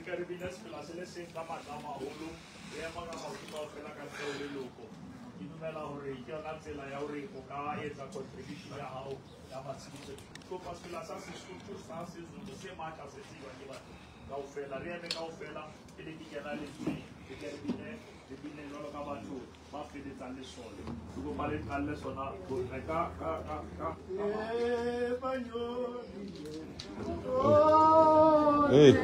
Re ke re bine sefela se le seng ka matla a maholo, re ema ka maoto kaofela ka ntle ho leloko. Ke dumela hore ke yona tsela ya hore o ka etsa contribution ya hao ya matshediso. Kopa sefela sa Sesotho sa Sezulu se matla se tsejwang ke batho kaofela. Re eme kaofela pele ke kena lentsweng, re ke re bine, re bine jwalo ka batho ba feletsang lesole. Ke kopa le qalle sona ka ka ka ka. Hey.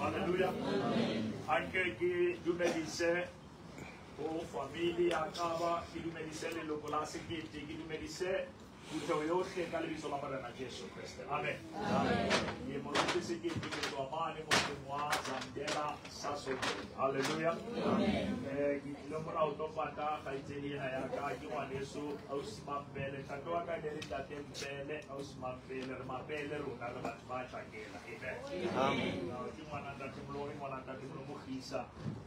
Hallelujah. Anke ke dumedise ho family ya Kaba, ke dumedise leloko la Sekete, ke dumedise phutheho yohle ka lebitso la Morena Jesu Kreste. Amen. Ke moruti Sekete, ke tswa mane motseng wa Zamdela Sasolburg. Hallelujah. Ke tlile mona ho tlo pata kgaitsedi ena ya ka, ke ngwaneso ausi Mampele. Ntate wa ka ne le ntate Mpele, ausi Mampele, re Mapele rona, re batho ba tjhakela. Amen. Ke ngwana ntate Moloi, ngwana ntate Molomogisa,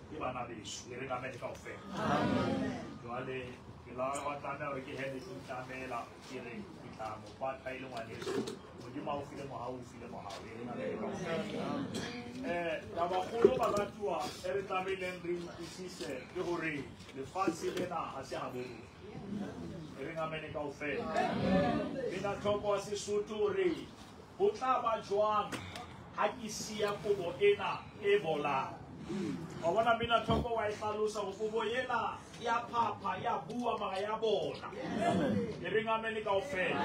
ke bana beso. E re ka amen kaofela. Jwale ke la wa tlameha hore ke hele ke itlamela, ke re ke tla mo pata e le ngwaneso. Modimo a o file mohau, o file mohau. E re amen kaofela. Tabakgolo baratuwa e re tlamehileng re utlwisise ke hore lefatshe lena ha se habo rona. E reng amen kaofela. Bina tlhoko wa Sesotho re ho tla ba jwang ha ke siya kobo ena e bolang. Wa bona mina tlhoko wa e hlalosa hore kobo ena ya phapha, ya bua mara ya bola. E reng amen kaofela.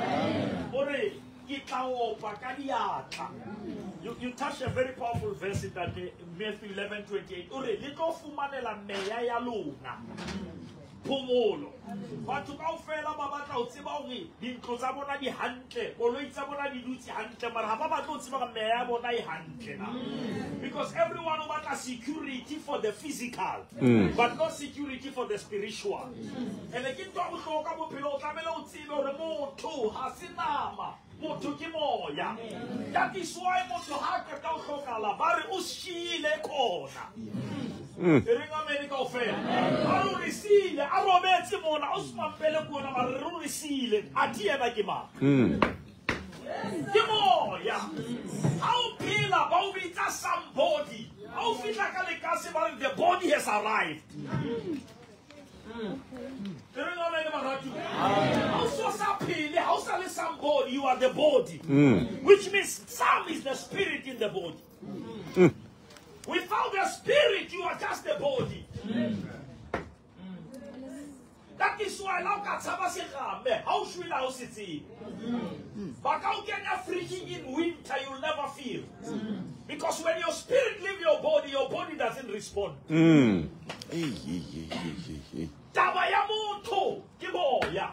O re ke tla opa ka diatla. You touch a very powerful verse in that Matthew 11:28. O re le tlo fumanela meya ya lona phomolo. Batho kaofela ba batla ho tseba hore dintlo tsa bona di hantle, koloi tsa bona di dutse hantle, mara ha ba batle ho tseba hore meya ya bona e hantle na. Because everyone o batla security for the physical, but not security for the spiritual. And ke ntho ya bohlokwa bophelo, o tlamehile o tsebe hore motho ha se nama, motho ke moya. That is why motho ha qeta ho hlokahala ba re o siile khona. E reng amen kaofela. A re o re siile, a robetse mona, o se mampele kona, mara re o re siile. Athe yena ke mang? Ke moya. Ha o phela ba o bitsa somebody. Ha o fihla ka arrived. Somebody, you are the body. Which means some is the spirit in the body. Without the spirit, you are just the body. That is why now how should I sit? But how can you freezing in winter you'll never feel? Because when your spirit leaves your body doesn't respond. Taba ya motho ke moya.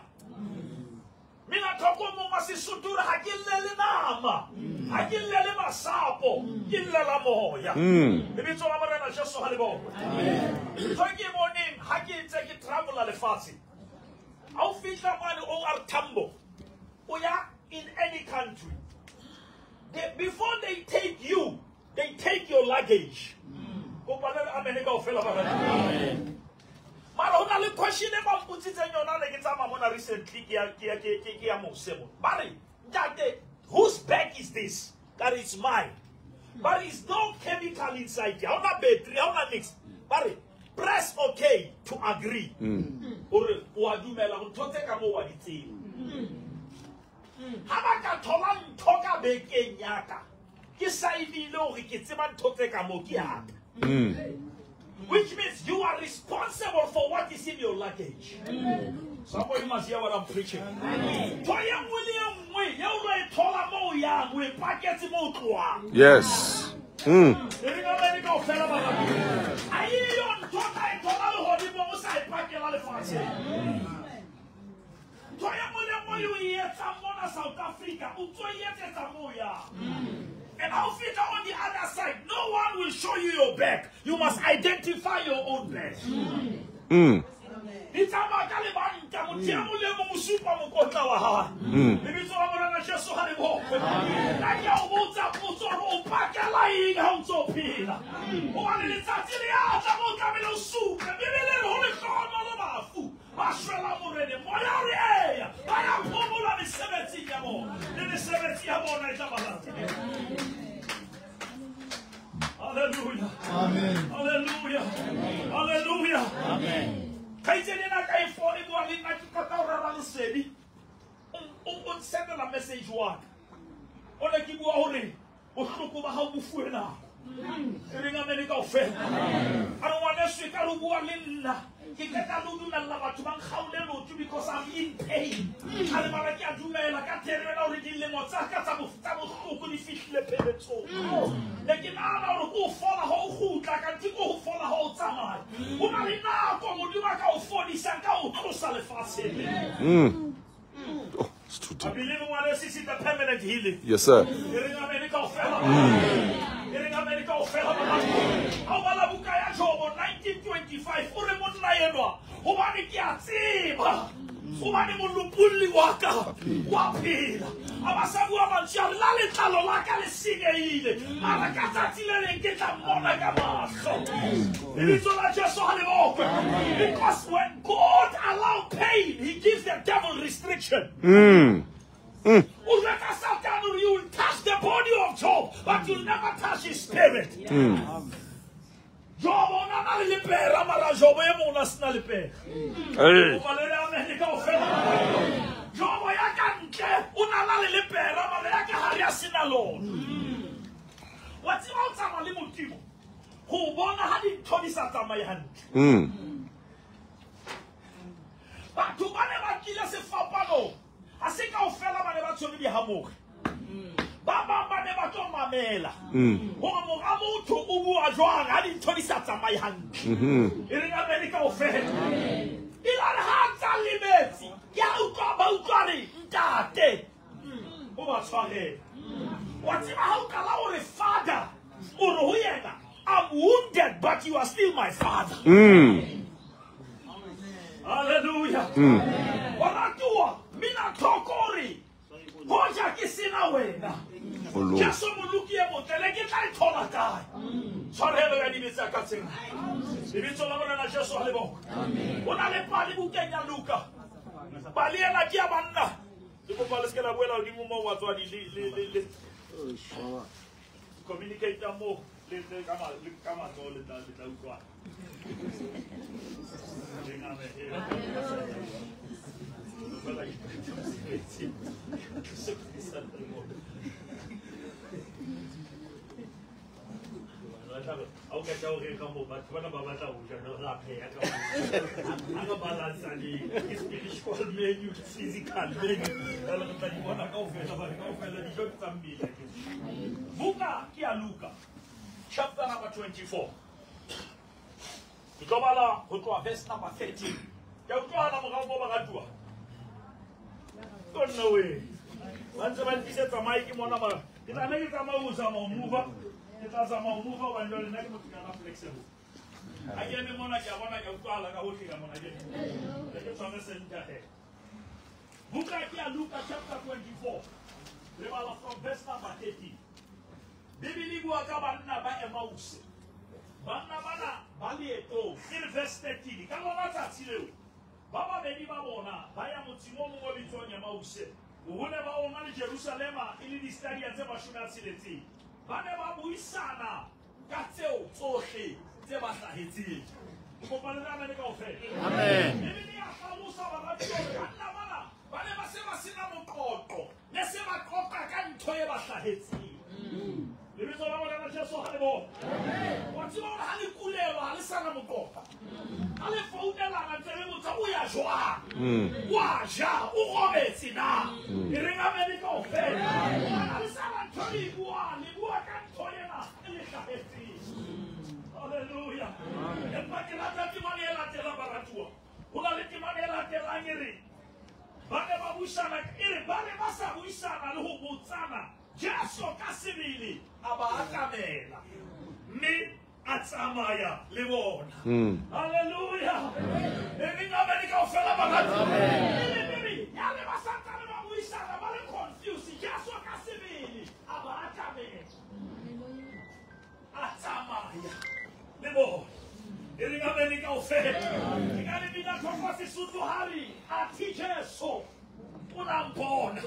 Mina thoko mongwe Sesotho ha ke llele nama, ha ke llele masapo, ke llela moya. Lebitso la Morena Jesu ha le bokwe. Ntho e ke e boneng ha ke ntse ke travela lefatshe. Ha o fihla mane OR Tambo, o ya in any country. Before they take you, they take your luggage. Kopa le amen kaofela ba rata. Mara ho na le question e ba mpotsitseng yona ne ke tsamaya mona recently ke ya mose mo. Ba re, ntate, whose bag is this? That is mine. But is no chemical inside. Ha hona battery, ha hona nix. Ba re, press okay to agree. Hore o a dumela hore ntho tse ka moo wa di tseba. Ha ba ka thola ntho ka bekeng ya ka, ke saenile hore ke tseba ntho tse ka moo ke ya ka. Which means you are responsible for what is in your luggage. Somebody must hear what I'm preaching. Yes. South Africa. And how fit on the other side, no one will show you your bag. You must identify your own bag. Hallelujah. Amen. Hallelujah. Amen. Hallelujah. Amen. Message wa o ne ke bua hore bohloko ba hao bo fuwe nako. E reng amen kaofela. A re ngwaneso e ka re bua le nna ke qeta le ho dumella batho ba nkgaole leoto because I'm in pain. A re mara ke a dumela ka thero ena hore dilemo tsa ka tsa bohloko di fihlile pheletsong. Ne ke nahana hore ke o fola ha o kgutla kanthe ke ho fola ha o tsamaya. Ho na le nako Modimo a ka o fodisang ka o tlosa lefatsheng lena. Oh, it's too deep. I believe in what is the permanent healing. Yes, sir. Because when God allows pain, he gives the devil restriction. You will touch the body of Job, but you'll never touch his spirit. Job o na le lepera, mara Job e mong o sena lepera. Job ya ka ntle o na le lepera, mara ya ka hare a sena lona. Wa tseba o tsamaya le Modimo go bona ha dintho di sa tsamaye hantle. Batho ba ne ba tlile sefapanong, ha se kaofela ba ne ba tshwere dihamoge. Ba bang ba ne ba tlo mamela hore mora motho o bua jwang ha dintho di sa tsamaye hantle. E reng amen kaofela. E la re ha tsa lebetse, ke a utlwa ba utlwa re ntate o ba tshwarele. Wa tseba ha o qala hore father, o re ho yena, I'm wounded but you are still my father. Hallelujah. Wa ratuwa mina tlhoko hoja ke sena wena. Jesu moloki e motle le ke tla e thola kae? Tshwarelo ya dibe tsa ka tsena. Lebitso la Morena Jesu ha le bokwe. Ho na le pale bukeng ya Luka. Pale ena ke ya banna. Le kopa le se ke la boela hodimo moo batswadi le communicate moo. Le ka matsoho le tla utlwana. O ka tla o re ka mo batho bana ba batla ho ja ra pheha ka mo. Ha re balance le spiritual menu, physical menu. Re tla di bona kaofela, ba kaofela dijo tsa mmele. Buka ke ya Luka chapter number 24. Ke tlo bala ho tloha verse number 13. Ke utlwana morao mo baratuwa. Don't know way. Ba ntse ba ntlisetsa mic mona ba. Ke tla ne ke tsamaya ho zama ho move. Ke tla zama ho move hobane jwale nna ke motho ya flexible. Ha ke eme mona ke a bona ke utlwahala ka hohle ka mona ke. Ke tshware center he. Buka ke ya Luka chapter 24. Re bala from verse number 13. Bibele e bua ka banna ba Emmaus. Banna bana ba leetong. Ke verse 13. Ka lona tsatsi leo ba babedi ba bona ba ya motseng o mongwe o bitswang Emmaus. Bohole ba ona le Jerusalema e le distadia tse 60. Ba ne ba buisana ka tseo tsohle tse ba hlahetseng. Kopane le amen kaofela. Amen. Bibele ya hlalosa baratuwa banna bana ba ne ba se ba sena moqoqo, ne se ba qoqa ka ntho e ba hlahetseng. Lebitso la Morena Jesu ha le bone. Wa tseba hore ha le kulelwa ha le sana moqoqo. Ha le founelana ntse le botsa o ya jwang? Wa ja, o robetse na? E reng amen kaofela. Ha le sana ntho le buang, le bua ka ntho ena e le hlahetseng. Hallelujah. Empa ke rata temana e latelang baratuwa. Ho na le temana e latelang e re ba ne ba buisana, e re ba ne ba sa buisana le ho botsana. Jesu ka sebele a ba atamela mme a tsamaya le bona. Hallelujah. E reng amen kaofela baratuwa. Ya le ba santsane ba buisana ba le confused. Jesu ka sebele a ba atamela, a tsamaya le bona. E reng amen kaofela. Ke ka le bina tlhoko Sesotho ha re athe Jesu o la mpona.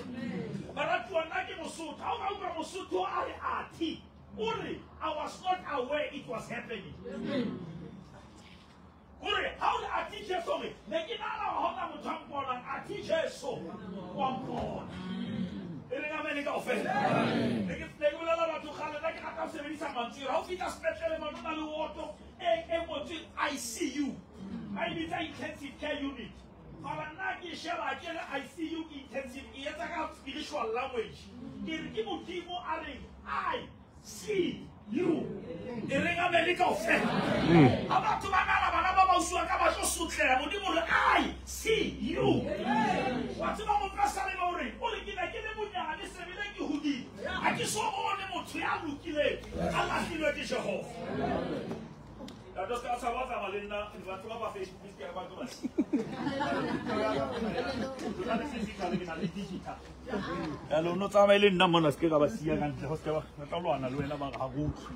Baratuwa nna ke Mosotho. Ha o ka utlwa Mosotho a re athe, o re I was not aware it was happening. Hore ha o re athe Jesu re ne ke nahana hore ha hona motho a mponang, athe Jesu wa mpona. E reng amen kaofela. Ne ke bolela batho kgale nna ke rata ho sebedisa mantswe. Ha o fihla sepetlele mane ho na le woto e ngotsweng ICU. Ba e bitsa intensive care unit. Mara nna ke sheba ke re ICU ke intensive, e etsa ka spiritual language. Ke re ke Modimo a reng I see you. E reng amen kaofela. Ha batho ba nahana bana ba bausiwa ka ba tlo sotleha, Modimo re I see you. Wa tseba mopesaleme o reng? O re ke ne ke le monyane sebele ke hodile. Ha ke so bone motho ya lokileng a lahlilwe ke Jehova. Ya just ka tshaba tsamaya le nna batho ba ba Facebook ke ba tlo ba. Ke na le physical ke na le digital. Ya lo no tsamaya le nna mona se ke ka ba siya ka ntle ho se ke ba tla lwana le wena ba re ha re utlwe.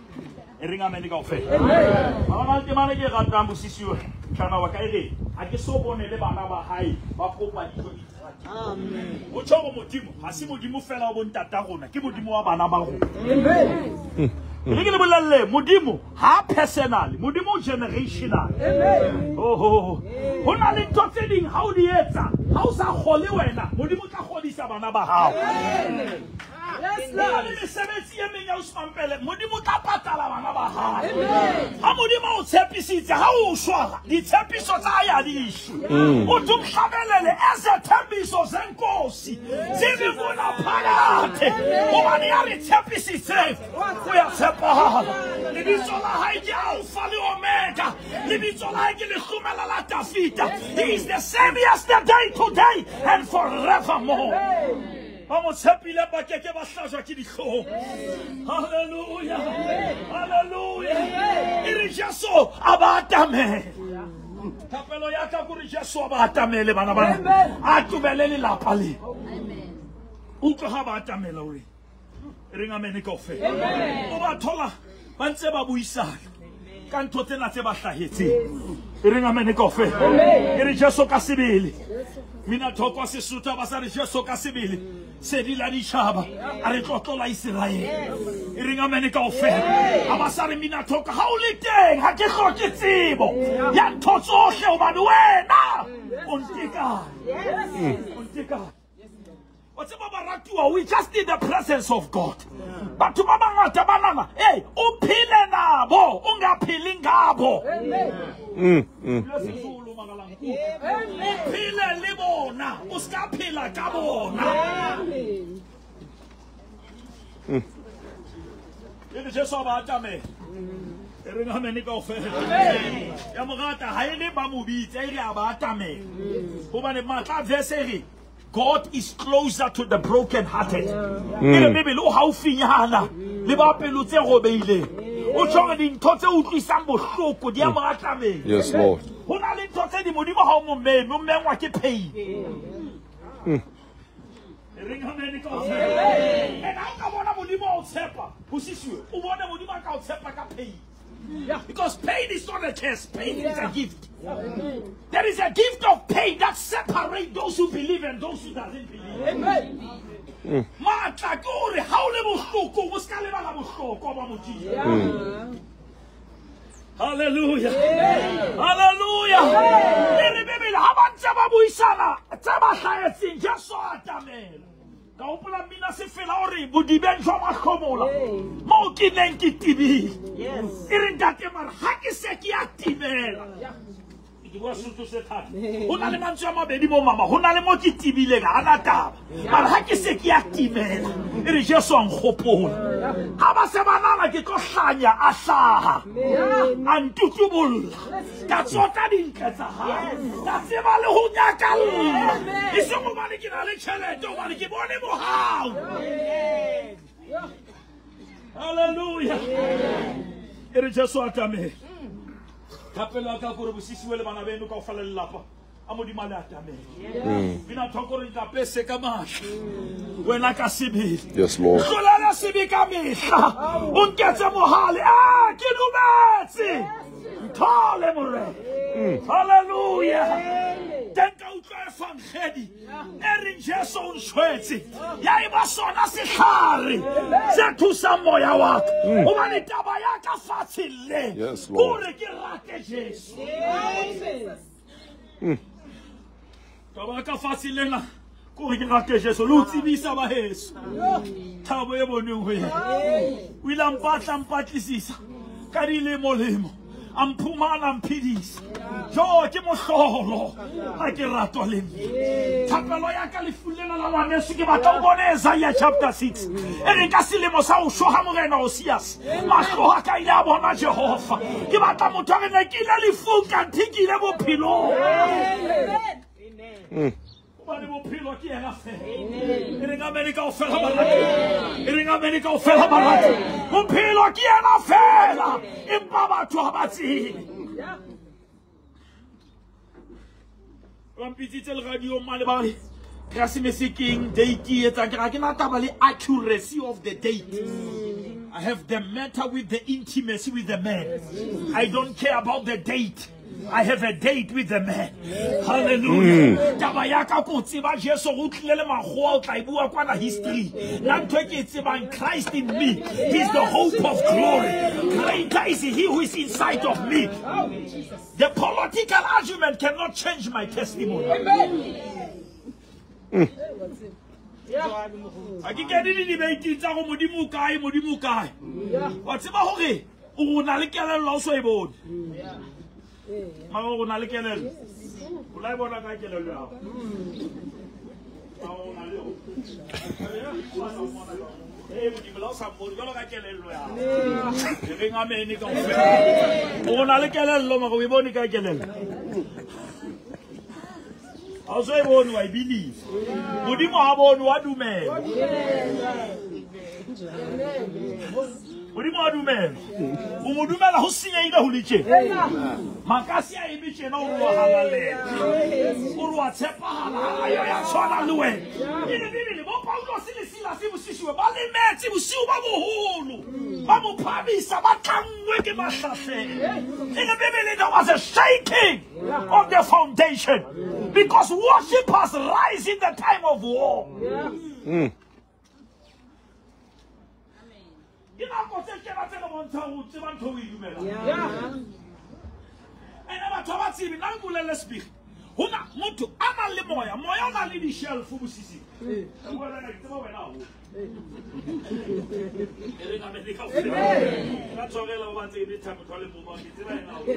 E reng amen kaofela. Amen. Ba na le temana ke ratang bosisiwe. Mhlana wa ka e re ha ke so bone le bana ba hae ba kopa dijo di. Amen. Ho tjho Modimo ha se Modimo fela wa bontata rona, ke Modimo wa bana ba rona. Amen. Re ke le bolelle Modimo ha personal, Modimo generational. Amen. Oh, ho na le ntho tse ding ha o di etsa, ha o sa kgole wena, Modimo tla kgodisa bana ba hao. Amen. Yes, Lord. Lord. Le mesebetsi e meng ya Usmampele, Modimo tla patala bana ba hao. Amen. Ha Modimo o tshepisitse, ha o shwa, ditshepiso tsa hae ha di shwe. O tumhlabelele ezethembiso zenkosi zibivuna phakathe. Hobane ya re tshepisitse, o ya tshepahala. Lebitso la hae ke Alpha le Omega. Lebitso la hae ke lehlomela la Dafita. He is the same yesterday, today and forevermore. Ba mo tshepile ba ke ke ba hlajwa ke dihlong. Hallelujah. Hallelujah. E re Jesu a ba atamele. Thapelo ya ka kore Jesu a ba atamele bana bana. A tobele lelapa le. Utlwa ha ba atamela o re. E reng amen kaofela. Amen. O ba thola ba ntse ba buisana. Ka ntho tsena tse ba hlahetseng. E reng amene kaofela. E re Jesu ka sebele. Mina thoko wa Sesotho ba sa re Jesu ka sebele. Sedi la ditjhaba a re tlotlo la Iseraele. E reng amene kaofela. A ba sa re mina thoko ha o le teng ha ke hloke tsebo ya ntho tsohle hobane wena o ntekane. O ntekane. Wa tseba baratuwa, we just need the presence of God. Batho ba bangata ba nana, hey, o phele nabo, o nga phele ngabo. O phele le bona, o ska phela ka bona. E re Jesu a ba atamela. E reng amene kaofela. Ya morata ha e le ba mo bitsa, e re a ba atamela. Hobane matla verse e re God is closer to the broken-hearted. E re Bibele o haufinyana le ba pelo tse robeileng. O tjho hore dintho tse utlwisang bohloko di a mo atamela. Yes, Lord. Ho na le ntho tse di Modimo ha o mo meme, o mengwa ke pain. E reng amene kaofela. And ha o ka bona Modimo a o tshepa, ho sisiwe, o bone Modimo a ka o tshepa ka pain. Because pain is not a curse, pain is a gift. There is a gift of pain that separates those who believe and those who doesn't believe. Amen. Matla ke hore ha o le bohloko, o ska lebala bohloko ba Modimo. Hallelujah. Hallelujah. E re Bibele ha ba ntse ba buisana tse ba hlahetseng Jesu a atamela. Ka hopola mmina se fela hore bodibeng jwa mahlomola moo ke neng ke tebile. E re ntate mara ha ke se ke a timela. Ke bua Sesotho se thata. Ho na le mantswe a mabedi mo mama, ho na le mo ke tebileng ha na taba. Mara ha ke se ke a timela. E re Jesu a nkgopola. Ha ba se ba nana ke tlo hlanya a hlaha. A ntutubolla. Ka tsota dintle tsa hae. Ka tseba le ho nyakalla. E seng hobane ke na le tjhelete, hobane ke bone mohau. Hallelujah. E re Jesu a atamela. Thapelo ya ka ke hore bosisiwe le bana beno kaofela le lelapa a Modimo a le atamele. Bina thoko re ikapese ka matla. Wena ka sebele. Yes, Lord. Hlolela sebe ka mehla. O nketse mohale. Ah, ke dumetse. Nthole Morena. Hallelujah. Teng ka utlwa evangedi e reng Jesu o ntshwetse. Ya eba sona sehlare se thusang moya wa ka. Hobane taba ya ka fatshe le Yes, Lord. hore ke rate Jesu. Taba ya ka fatshe lena ke hore ke rate Jesu. Le ho tsebisa ba heso thabo e boneng ho yena. O ile a mpatla, mpatlisisa ka dilemo-lemo. A mphumana, a mphedisa. Jo, ke mohlolo ha ke ratwa le nna. Thapelo ya ka lefung lena la ngwaneso ke batla o bone Isaiah chapter 6. E reng ka selemo sa ho shwa ha Morena Osias, mahlo a ka ile a bona Jehova. Ke batla motho a re ne ke ile lefung kanthe ke ile bophelong. Hobane bophelo ke yena feela. E reng amene kaofela barati. E reng amene kaofela barati. Bophelo ke yena feela. Empa batho ha ba tsebe. Ba mpitsitse le radio mane ba re Keresemese ke eng, date e etsang, ke re ha ke na taba le accuracy of the date. I have the matter with the intimacy with the man. I don't care about the date. I have a date with the man. Hallelujah. Taba ya ka ko tseba Jesu o tlile le makgowa o tla e bua kwana history. Nna ntho e ke e tsebang, Christ in me. He's the hope of glory. Greater is he who is inside of me. The political argument cannot change my testimony. Ha ke kene di-debate tsa go Modimo o kae, Modimo o kae. Wa tseba hore o na le kelello ha o so e bone. Mama o na le kelello. O la e bona ka kelello ya hao. Mama o na le yona. Eh, Modimo la o sa mmone jwalo ka kelello ya hao. E reng amene kaofela. O na le kelello mara o e bone ka kelello. Ha o so e bone wa e believe. Modimo ha bone wa dumela. Modimo wa dumela. O mo dumela ho senyehile ho le tjena. Makasi a eme tjena o re wa halalela. O re wa tshepahala, ha yo ya tshwana le wena. E le Bibele, bo Paulos le Silas Silas bosisiwe ba lemetse bosiu ba boholo ba mo phamisa ba tlanngwe ke mahlasela. In the Bible there was a shaking of the foundation because worshippers rise in the time of war. Ke nako tse tjena tse re bontshang ho tseba ntho o e dumelang. Ene batho ba tsebe nna nkolelle sebiri. Hona motho a nang le moya, moya o na le di-shelf bosisi. Wena ke tseba wena haholo. E re amen kaofela. Ka tshwarela ho ba tsebe thabo motho a le mong, ke tseba yena haholo.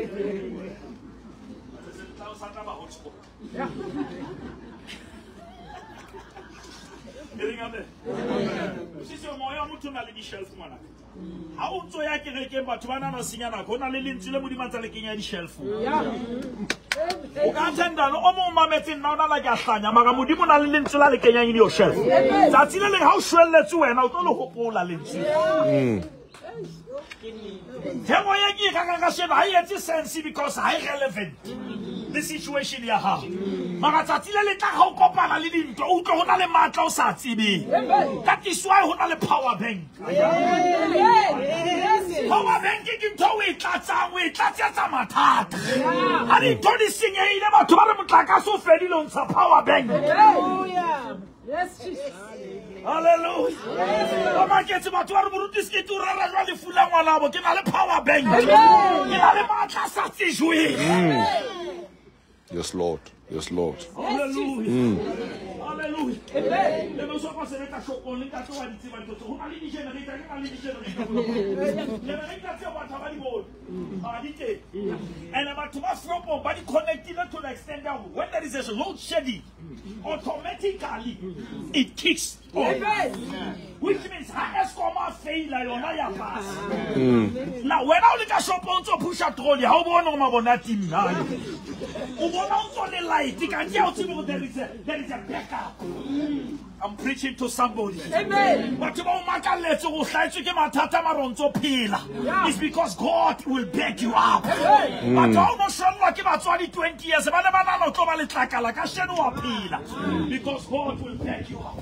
Se tla o sa tla ba hotspot. E reng amen. Bosisi moya wa motho o na le di-shelf ngwanaka. Ha o ntso ya kerekeng batho ba nana senya nako, ho na le lentswe le Modimo a ntsa le kenya di-shelf. O ka attenda le o mong o mametse nna o na la ke a hlanya, mara Modimo o na le lentswe la le kenyang in your shelf. Tsatsi le leng ha o shwelletse wena o tlo le hopola lentswe. Thero ye ke e rekang kasheno ha e etse sense because ha e relevant le situation ya hao. Mara tsatsi le le tlang ha o kopana le dintwa, o utlwe ho na le matla o sa tsebeng. That is why ho na le power bank. Power bank ke ntho o e tlatsang, o e tlatsetsa mathata. Ha dintho di senyehile batho ba re motlakase o fedile o ntsha power bank. Yes, Jesus. Hallelujah. Ba maketse batho ba re moruti sekete o rera jwa lefu la ngwanabo, ke na le power bank. Ke na le matla a sa tsejweng. Yes, Lord. Yes, Lord. Hallelujah. Hallelujah. Amen. Le mo sopa sebetsa shopong le ntate wa di tseba ntho tse. Ho na le di-generator, ke na le di-generator. Generator tseo batho ha ba di bone. Ha di teng. And batho ba shopong ba di connectile to the extent that when there is a load shedding, automatically it kicks on. Which means ha Eskom a faila yona ya pass. Now wena o le ka shopong o ntso pusha trolley, ha o bone hore mabone a timme. O bona o ntso le light, kanti ha o tsebe hore there is a backup. I'm preaching to somebody. Amen. Batho ba o makalletse hore o hlahetswe ke mathata mara o ntso phela. It's because God will back you up. Batho ha o no shwellwa ke batswadi 20 years, ba ne ba nahana o tlo ba letlakala, kasheno wa phela. Because God will back you up.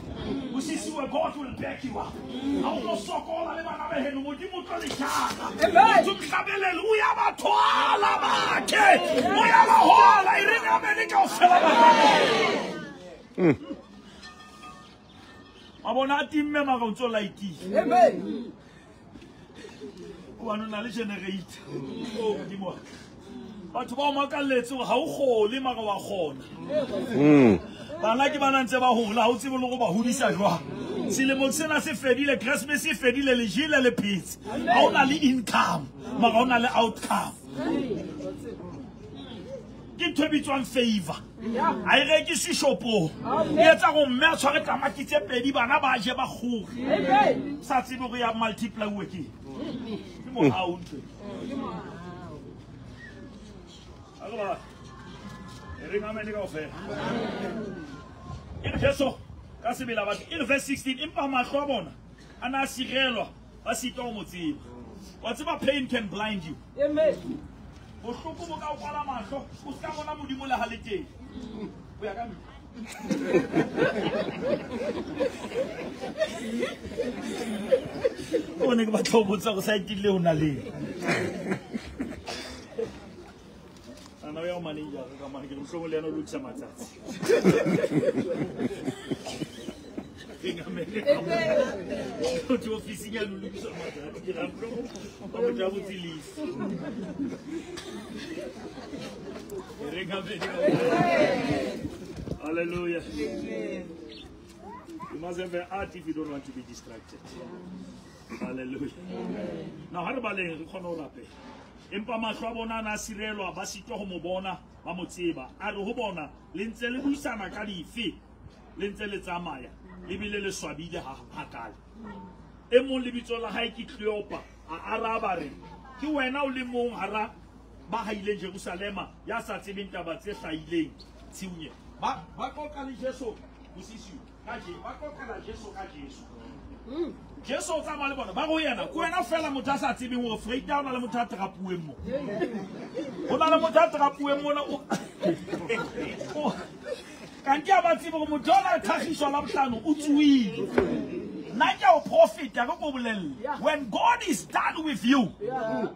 Bosisiwe, God will back you up. Ha o no sokola le bana ba heno, Modimo o tlo le jara. Motho mhlabelele, o ya ba thwala bakhe. O ya ba hola, e reng amen kaofela ba. Mabone a timme mara o ntso lightile. Amen. Hobane o na le generator. Oh Modimo wa ka. Batho ba o makalletse hore ha o kgole mara wa kgona. Bana ke bana ntse ba hola, ha o tsebe le hore ba hodisa jwang. Selemo sena se fedile, Christmas e fedile, le jele le phetse. Ha o na le income, mara o na le outcome. Ke ntho e bitswang favor. Ha e rekiswe shopong. E etsa hore mme a tshware tamati tse pedi, bana ba je ba kgore. Sa tsebe hore ya multiply-uwe ke eng. Ke mohau ntho e. A re ba, e reng amen kaofela. E re Jesu ka sebele a batho, e re verse 16, empa mahlo a bona a na a sirelwa, ba sitwa ho mo tseba. Wa tseba pain can blind you. Amen. Bohloko bo ka o kwala mahlo, o ska bona Modimo le ha le teng. O ya ka nna. O ne ke batla ho botsa hore saeteng le ho na le eng. Ana o ya ho manager ka mane, ke re mohlomong le yena o lokisa matsatsi. O tswe ofising ya lo lokisa matsatsi, ke re mohlomong ba mo ja botse lease. E reng amen. Hallelujah. You must have an art if you don't want to be distracted. Hallelujah. Now, ha re baleng re kgone ho rapela. Empa mahlo a bona a na a sirelwa, ba sitwa ho mo bona, ba mo tseba. A re ho bona, le ntse le buisana ka dife, le ntse le tsamaya, le bile le swabile hakale. E mong lebitso la hae ke Cleopa, a araba re, ke wena o le mong hara ba haileng Jerusalema ya sa tsebeng taba tse hlahileng tshiung. Ba qoqa le Jesu bosisiu ka Jesu, ba qoqela Jesu ka Jesu. Jesu o tsamaya le bona, ba re ho yena, ke wena feela motho a sa tsebeng hore Freita o na le motho a trapuweng mo. Ho na le motho a trapuweng mona o kanti ha ba tsebe hore motho ona a thakgiswa Labohlano o tsohile. Nna ke a o profita ke ko bolelle. When God is done with you,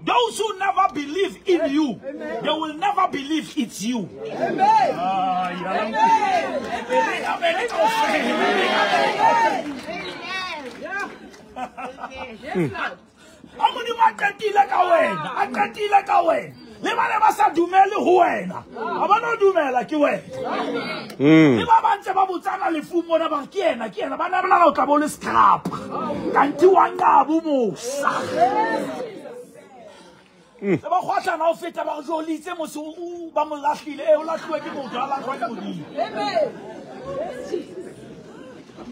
those who never believe in you, they will never believe it's you. Amen. Ah, yeah. Amen. Amen. Amen. Yeah. Yes, Lord. A Modimo a qetile ka wena, a qetile ka wena. Le ba ne ba sa dumele ho wena, ha ba no dumela ke wena. Le ba ba ntse ba botsana lefung mona ba re ke yena, ke yena. Ba ne ba nahana o tla bo le scrap. Kanti wa nqaba o mosa. Se ba kgwahlana ho feta ba re jolitse mose o ba mo lahlile. Eh, o lahluwe ke motho, ha lahlwa ke Modimo. Amen. Yes, Jesus.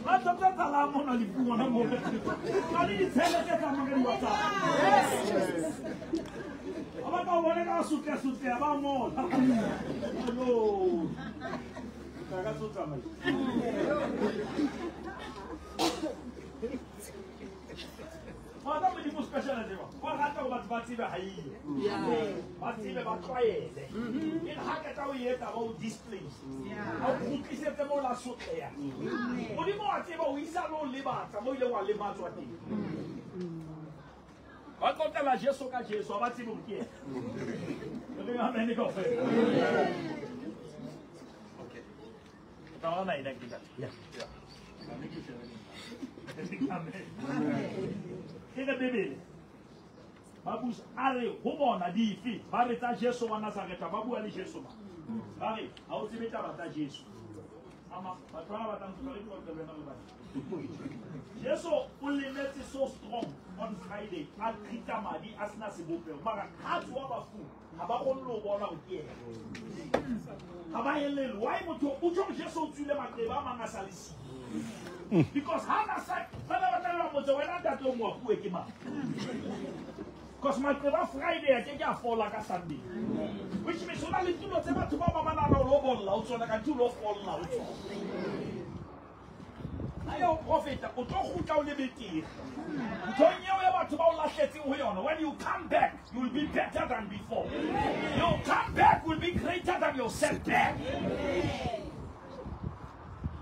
Ba tlo tla tsalang mona lefung hona moo. Ba le ditshele tse tsamayang ka di-WhatsApp. Yes, Jesus. Ha ba ka o bona ka sotleha-sotleha, ba ngola. Hello. Ka ka tso tsamaya. Ba tla Modimo special tseba. Ba rata hore batho ba tsebe ha eyo. Ba tsebe ba tlwaele. E re ha qeta ho e etsa ba o displace. Ha o kgutlisetse moo la sotleha. Modimo wa tseba o isa le ho lebatsa moo ileng wa lematswa teng. Ba qoqela Jesu ka Jesu, ha ba tsebe hore ke yena. Re reng amen kaofela. Okay. O tla bona ena ke ntate. Yeah. Yeah. Amen. Ke re Bibele. Ba busa a re ho bona dife ba re tsa Jesu wa Nazaretha, ba bua le Jesu ba. Ba re ha o tsebe taba tsa Jesu. Ama batho ba batlang ho re qoqele wena le bana. Jesu o lemetse so strong on Friday, a qhitsa madi a sena sebopeho. Mara ha tsoha bafung, ha ba kgone le ho bona hore ke yena. Ha ba elellwe. Why motho o tjho Jesu o tswile maqeba a mang a sa le siyo? Because ha na sa ba ba tla ba motse wena ntate o moapuwe ke mang? Because maqeba Friday a ke ke a fola ka Sunday. Which means ho na le tulo tse batho ba ba nahana hore o bolla ho tsona, kanthe o lo folla ho tsona. Ha ya o profeta, o tlo kgutla o le betere. Nthong eo ya batho ba o lahletseng ho yona, when you come back, you will be better than before. Your comeback will be greater than your setback.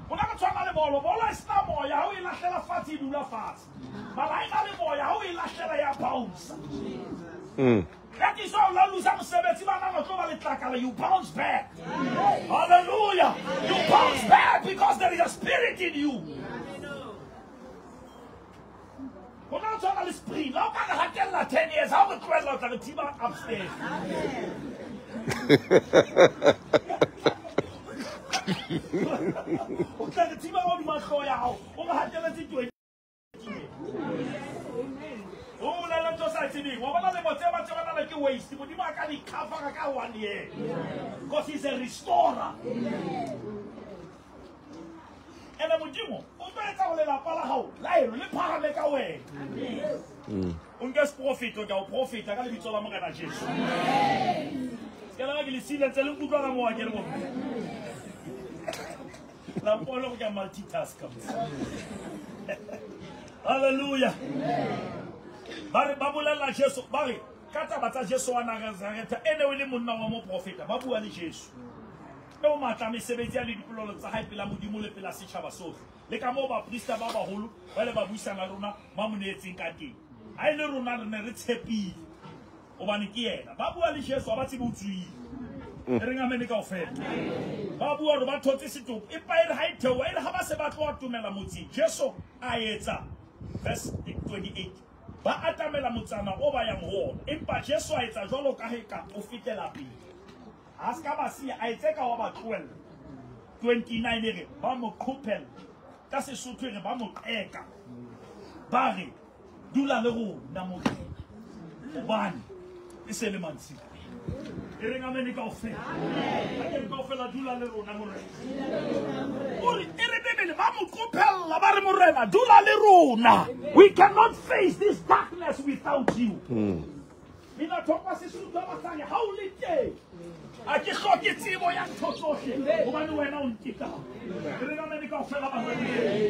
Ho na re tshwana le bolo, bolo e sena moya, ha o e lahlela fatshe e dula fatshe. Mara ha e na le moya, ha o e lahlela ya bounce. That is why o la lose mosebetsi, ba nahana o tlo ba letlakala, you bounce back. Hallelujah. You bounce back because there is a spirit in you. Ho na tshwana le spring, ha o ka re hatella 10 years, ha o re tlohella o tla re thiba upstairs. O tla re thiba ka hodima hlooho ya hao, o re hatelletse 20 years. O bolela ntho o sa tsebeng, wa bona lemo tse ba tsebana le ke waste. Modimo a ka di cover ka 1 year. Because he's a restorer. Ene Modimo o tlo etsa hore lelapa la hao la eno le phahame ka wena. O nke seprofeto, ke a o profeta ka lebitso la Morena Jesu. Ke la ke le silentse le nkutlwa ka moo ke le bomme. La mpone hore ke a multitask. Hallelujah. Ba re ba bolella Jesu, ba re ka taba tsa Jesu wa Nazaretha, ene o le monna wa moprofeta, ba bua le Jesu. E o matla mesebetsi ya le dipolelo tsa hae pela Modimo le pela setjhaba sohle. Le ka moo baprista ba baholo ba ile ba buisana le rona ba mo neetseng ka teng. Ha e le rona re ne re tshepile hobane ke yena. Ba bua le Jesu ha ba tsebe o tswile. E reng amen kaofela. Ba bua hore ba thotse setopo, empa e re ha e theoha, e re ha ba se ba tloha tumela motseng, Jesu a etsa verse 28. Ba atamela motsana o ba yang ho ona, empa Jesu a etsa jwalo ka he ka o fetela pele. Ha se ka ba siya, a etse ka wa ba tlohella. 29 e re ba mo qhophella, ka Sesotho e re ba mo qeka. Ba re dula le rona Morena, hobane e se le mantsiboya. E reng amen kaofela. Ha ke re kaofela dula le rona Morena. O re e re Bibele ba mo qophella, ba re Morena dula le rona. We cannot face this darkness without you. Mina thopa Sesotho ba tsaya ha o le teng. A ke hloke tsebo ya ntho tsohle hobane wena o ntekang. Ke re amen kaofela ba re.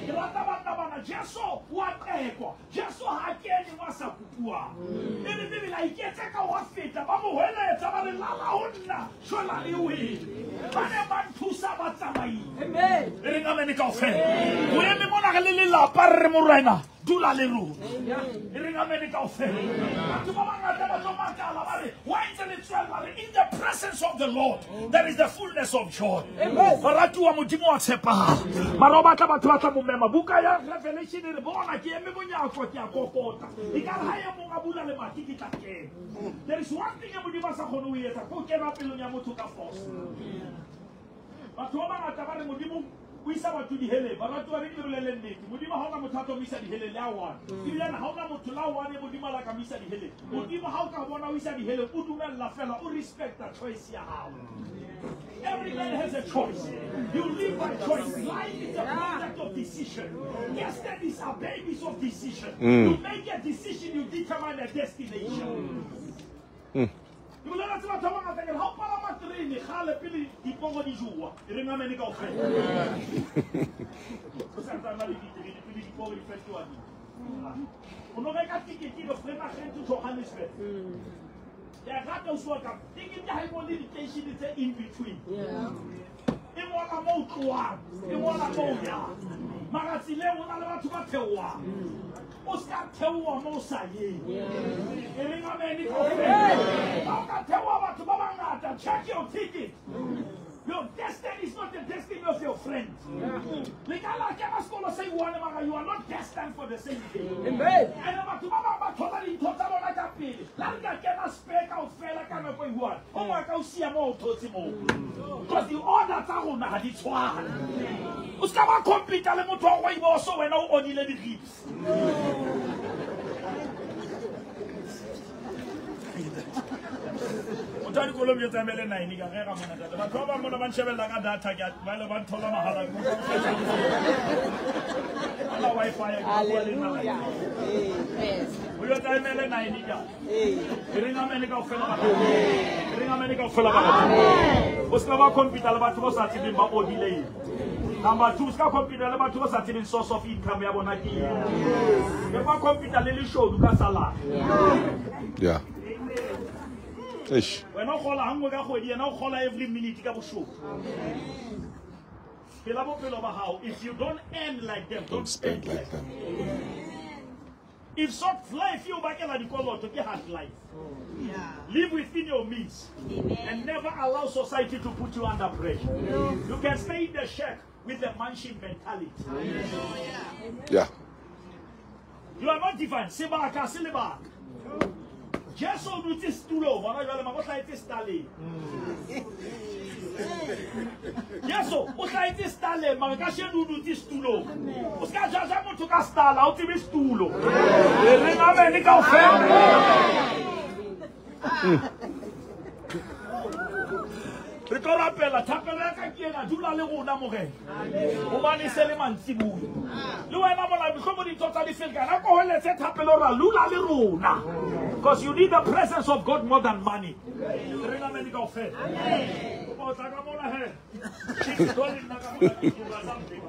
Ke rata banna bana, Jesu wa qekwa. Jesu ha kene wa sa kupuwang. E re Bibele a iketse ka wa feta, ba mo hweletsa ba re lala ho nna, shwela le wele. Ba ne ba nthusa batsamaile. Amen. E reng amen kaofela. O eme mona re le lelapa re re morena dula le rona. E reng amen kaofela. Batho ba bangata ba tlo makala ba re wa ntse le tswella re in the presence of the Lord there is the fullness of joy. Baratuwa Modimo wa tshepahala. Mara o batla batho ba tla mo mema. Buka ya Revelation e re bona ke eme monyako ke a kokota. E ka re ha e mong a bula lemati ke tla kena. There is one thing e Modimo a sa kgone ho e etsa, ke ho kena pelong ya motho ka force. Batho ba bangata ba re Modimo o isa batho diheleng. Baratuwa re ke le bolelle nnete. Modimo ha ona motho a tlo mo isa diheleng le a one. Ebilane ha ona motho la one Modimo a la ka mo isa diheleng. Modimo ha o ka bona o isa diheleng, o dumella fela, o respecta choice ya hao. Every man has a choice. You live by choice. Life is a product of decision. Destinies are babies of decision. You make a decision, you determine a destination. Ke bolela tse batho ba bangata ke re, ha o palama terene kgale pele diporo di jowa, e reng amen kaofela. O sa ntsane le diterene pele diporo di fetoha di. O no reka tikete le Vereeniging to Johannesburg. Ke a rata o swa ka tikete ha e ngole diteishene tse in between. E ngola moo o tlohang, e ngola moo o yang. Mara tseleng ho na le batho ba theohang. O ska theoha moo o sa yeng. E reng amen kaofela. Ha o ka theoha batho ba bangata, check your ticket. Your destiny is not the destiny of your friend. Le ka la kena sekolo se one mara you are not destined for the same thing. Amen. Ene batho ba bang ba thola dintho tsa bona ka pele. La re ka kena spare kaofela ka nako e one. O mongwe a ka o siya moo o thotse moo. Because the order tsa rona ha di tshwane. O ska ba compete le motho wa rooibos wena o onile di-ribs. Motho wa dikoloi o tsamaele 9 ka ge ga mona tata. Batho ba bang mona ba nshebella ka data ke a ba ile ba nthola mahala. Ala Wi-Fi ya ke bua le nna. Hallelujah. Amen. O yo tsamaele 9 ka. E reng amen kaofela batho. E reng amen kaofela batho. O ska ba compete le batho ba sa tsebeng ba odile eng. Number 2, ska compete le batho ba sa tsebeng source of income ya bona ke eng. Ke ba compete le leshodu ka salary. Yeah. Eish. Wena o kgola ha nngwe ka kgwedi, yena o kgola every minute ka boshodu. Phela bophelo ba hao. If you don't earn like them, Don't spend like them. If soft life you bakela dikoloto ke hard life. Live within your means and never allow society to put you under pressure. You can stay in the shack with the mansion mentality. Yeah. You are not divine. Sebaka se lebaka. Jesu o dutse setulong hona jwale mara o hlahetse staleng. Jesu o hlahetse staleng mara kasheno o dutse setulong. O ska jaja motho ka stala, ha o tsebe setulo. E reng amen kaofela. Re tlo rapela, thapelo ya ka ke ena, dula le rona Morena. Hobane se le mantsiboya. Le wena mona mohlomong dintho tsa di ferekana, ko holetse thapelo ra lula le rona. Because you need the presence of God more than money. Re reng amen kaofela. O tla ka mona he. Ke tlo le nna ka mona ke tloha something.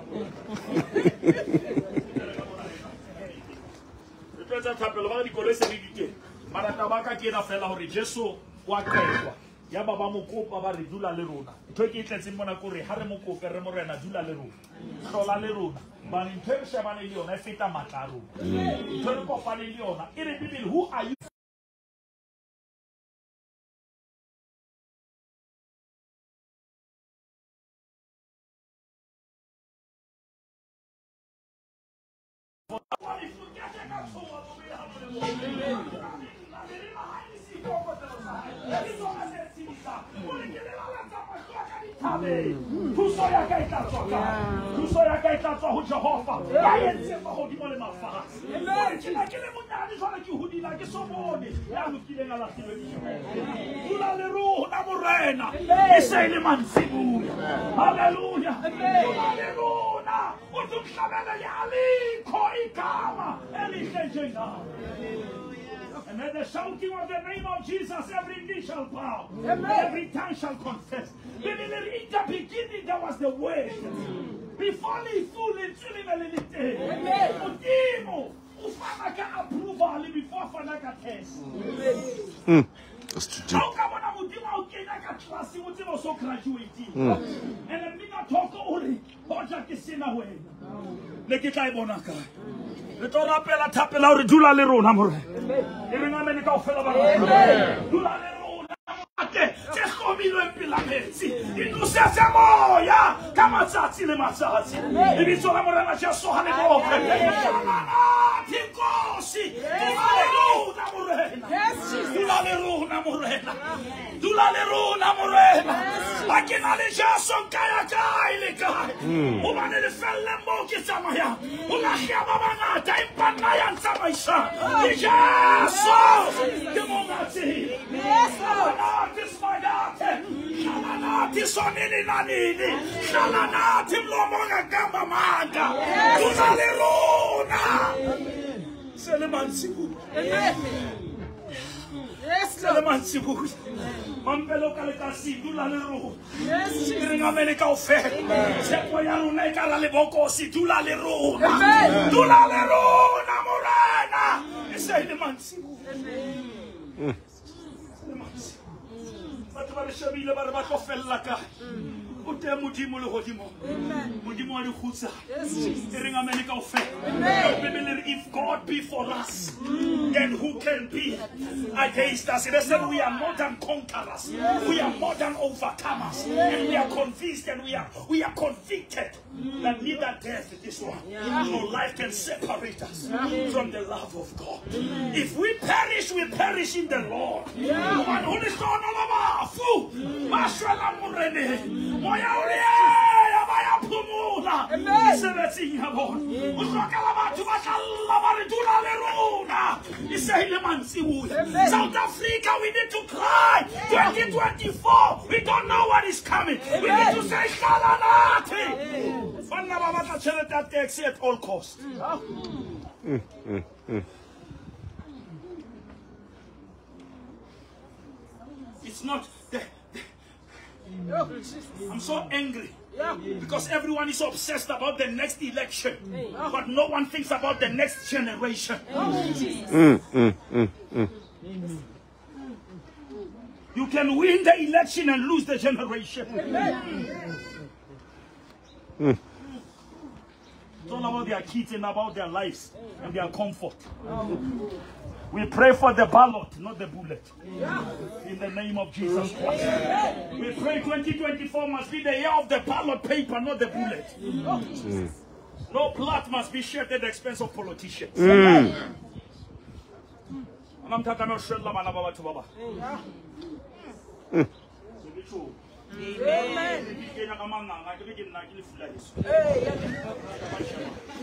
Re tlo etsa thapelo ba re dikoloi se di teng. Mara taba ka ke ena fela hore Jesu wa qetwa. Ya ba ba mo kopa ba re dula le rona. Ntho e ke e tletseng mona ke hore ha re mo kope re Morena dula le rona. Hlola le rona. Hobane ntho e re shebane le yona e feta matla a rona. Ntho e re kopane le yona e re Bibele, who are you? Thuso ya ka e tla tswa kae? Thuso ya ka e tla tswa ho Jehova. Ya entseng mahodimo le mafatshe. Ke na ke le monyane jwale ke hodile ha ke so bone ya lokileng a lahlilwe ke Jehova. Dula le rona Morena. E se e le mantsiboya. Hallelujah. Dula le rona. O tlo nhlabele le alikho igama elihle njengawe. And at the shouting of the name of Jesus, every knee shall bow, every tongue shall confess. In the beginning there was the Word. Before lefu lentswe le ne le le teng. Modimo o fana ka approval before a fana ka test. That's too deep. Ha o ka bona Modimo a o kenya ka class o tseba o so graduate. And mmina thoko o re hoja ke sena wena. Ne ke tla e bona kae? Re tlo rapela thapela hore dula le rona morena. E reng amen kaofela ba rona. Dula le rona ate tse hlomilweng pela metsi. Di nosetse moya ka matsatsi le matsatsi. Lebitso la Morena Jesu ha le bohle. Nkosi, dula le rona morena. Dula le rona morena. Dula le rona morena. Ha ke na le Jesu nka ya kae le kae. Hobane lefelleng moo ke tsamayang ho lahleha ba bangata, empa nna ya ntsamaisang ke Jesu. Ke monga tsela. Hlala nathi Simakade. Hlala nathi sonini nanini. Hlala nathi mlomo ongaqamba amanga. Dula le rona. Se le mantsibuya. Se le mantsibuya. Mampelo ka lekasi dula le rona. E reng amen kaofela. Tshepo ya rona e ka ra lebokosi dula le rona. Dula le rona morena. E se le mantsibuya. Se le mantsibuya. Batho ba re shebile ba re ba tlo fella kae. O teng Modimo lehodimong. Modimo wa dikgutsana. E reng amen kaofela. Bibele re if God be for us, then who can be against us? It said we are more than conquerors. We are more than overcomers. And we are convinced and we are convicted that neither death, this one, nor life can separate us from the love of God. If we perish, we perish in the Lord. Hobane ho lehlohonolo bafu ba shwelang Moreneng. Moya o re ya ba ya phomola mesebetsing ya bona. O hlokela batho ba tla lla ba re dula le rona. E se ile mantsibuya. South Africa, we need to cry. 2024, we don't know what is coming. We need to say hlala nathi. Banna ba batla tjhelete ya taxi at all cost. It's not the, I'm so angry because everyone is obsessed about the next election, but no one thinks about the next generation. You can win the election and lose the generation. It's all about their kids and about their lives and their comfort. We pray for the ballot, not the bullet. In the name of Jesus Christ. We pray 2024 must be the year of the ballot paper, not the bullet. No blood must be shed at the expense of politicians. Amen.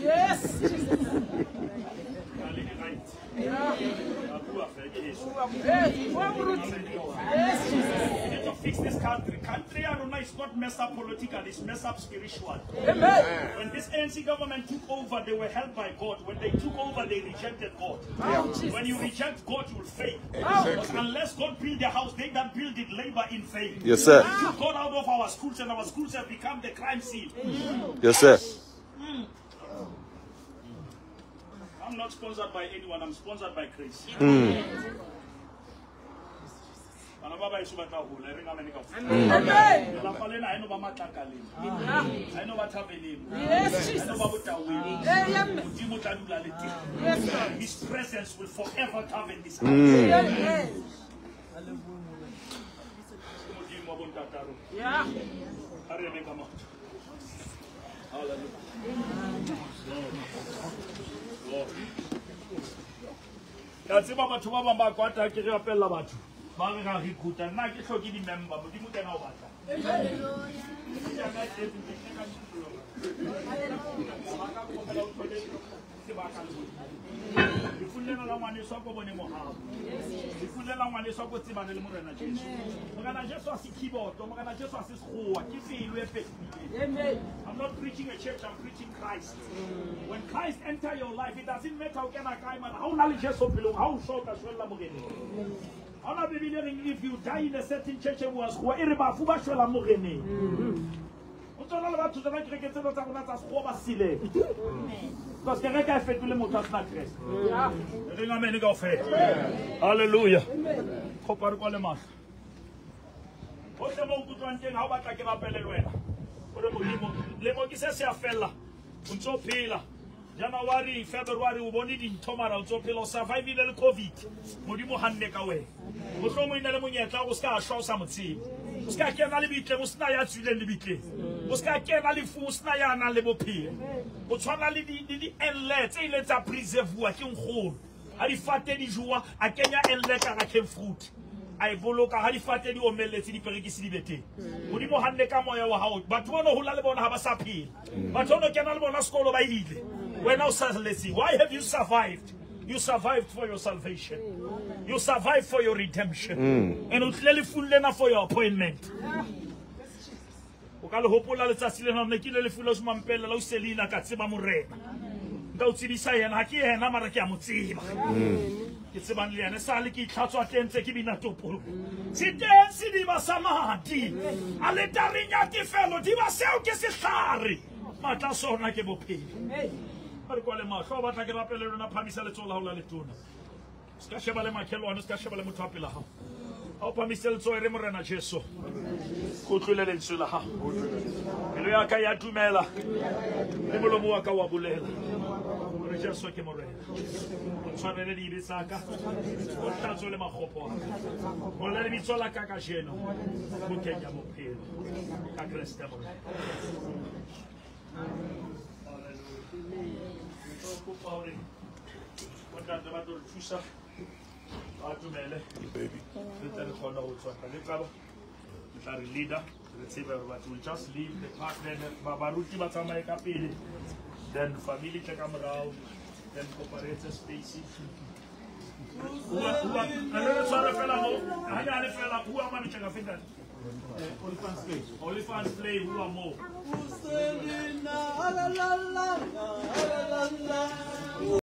Yes. Yes. We need to fix this country. Country Aruna is not messed up politically, it's messed up spiritually. Amen. When this ANC government took over, they were helped by God. When they took over, they rejected God. Yeah. When you reject God, you will fail. Exactly. Unless God build the house, they that build it labor in vain. Yes, sir. They took God out of our schools, and our schools have become the crime scene. Yes, sir. I'm not sponsored by anyone. I'm sponsored by Grace. Bana ba baeso ba tla hola, e reng amen kaofela. Amen. Lelapa lena ha e no ba matlakaleng. Ha e no ba thabeleng. Yes, Ha e Jesus. no ba botaweng. Amen. Modimo o tla dula le teng. Yes, Lord. His presence will forever govern this house. Amen. Modimo wa bontata rona. Yeah. Ha re eme ka maoto. Hallelujah. Glory. Ke a tseba batho ba bang ba kwata ha ke re rapella batho. Ba re ra recruita. Nna ke hloke di-member. Modimo ke yena o batlang. Lefu lena la ngwaneso a ko bone mohau. Lefu lena la ngwaneso a ko tsebane le Morena Jesu. Morena Jesu ha se keyboard, Morena Jesu ha se sekgowa, ke pelo e fetohileng. Amen. I'm not preaching a church, I'm preaching Christ. When Christ enter your life, it doesn't matter o kena kae, mara ha o na le Jesu pelong, ha o shwa o tla shwella Moreneng. Ha ona Bibele e reng if you die in a certain church e bua sekgowa, e re bafu ba shwela Moreneng. O tsona le batho tsena kereke tsena tsa rona tsa sekgowa ba sileng. Because kereke ha e fetole motho a sena Kreste. Yeah. Re reng amen kaofela. Hallelujah. Kopa re kwale mahlo. Hohle mo nkutlwang teng ha o batla ke rapele le wena. O re Modimo, lemo ke se se a fella. O ntso phela. January, February o bone dintho mara o ntso phela, o survivile le COVID. Modimo hanne ka wena. Mohlomong e ne le monyetla o ska shwa o sa mo tsebe. O ska kena lebitleng, o sena ya tswileng lebitleng. O ska kena lefung, o sena ya nang le bophelo. O tshwana le di-enle tse ileng tsa preserve-wa ke nkgono. Ha difate di jowa, a kenya enle ka hara cane fruit. A e boloka ha difate di omelletse, diperekisi di be teng. Modimo hanne ka moya wa hao. Batho ba no hola le bona ha ba sa phela. Batho ba no kena le bona sekolo ba ile. Wena o salletse. Why have you survived? You survived for your salvation. You survived for your redemption. And o tlile lefung lena for your appointment. O ka le hopola letsatsi lena ne ke ile lefung la Mampela la o Selina ka tseba Morena. Nka o tsebisa yena, ha ke yena mara ke a mo tseba. Ke tsebang le yena sale ke itlhatswa teng tse ke bina topolo. Se teng sediba sa madi. Aletareng ya tefelo diba seo ke sehlare. Matla sona ke bophelo. Ha re kwale mahlo, o batla ke rapele lona, phamisa letsoho la hao la letona. Se ka sheba le makhelwane, se ka sheba le motho wa pela hao. Ha o phamise letsoho, e re Morena Jesu, ke utlwile lentswe la hao. Pelo ya ka ya dumela, le molomo wa ka wa bolela hore Jesu ke Morena. O tshwarele dibe tsa ka, o hlatswe le makgopo a ka. Ngola lebitso la ka kajeno bukeng ya bophelo ka Kreste Morena. Kopa hore bontate ba tlo re thusa, ba dumele, Baby. re tle re kgone ho tswa le qaba. Re tla re leader, re tsebe hore batho will just leave the park, then baruti ba tsamaye ka pele, then family tle ka morao, then kopa re etse space. Re tshware fela mo hanyane fela, bua mane tjeka feta. Olifants Play. Olifants Play, bua mo. Selina, la la la la la la.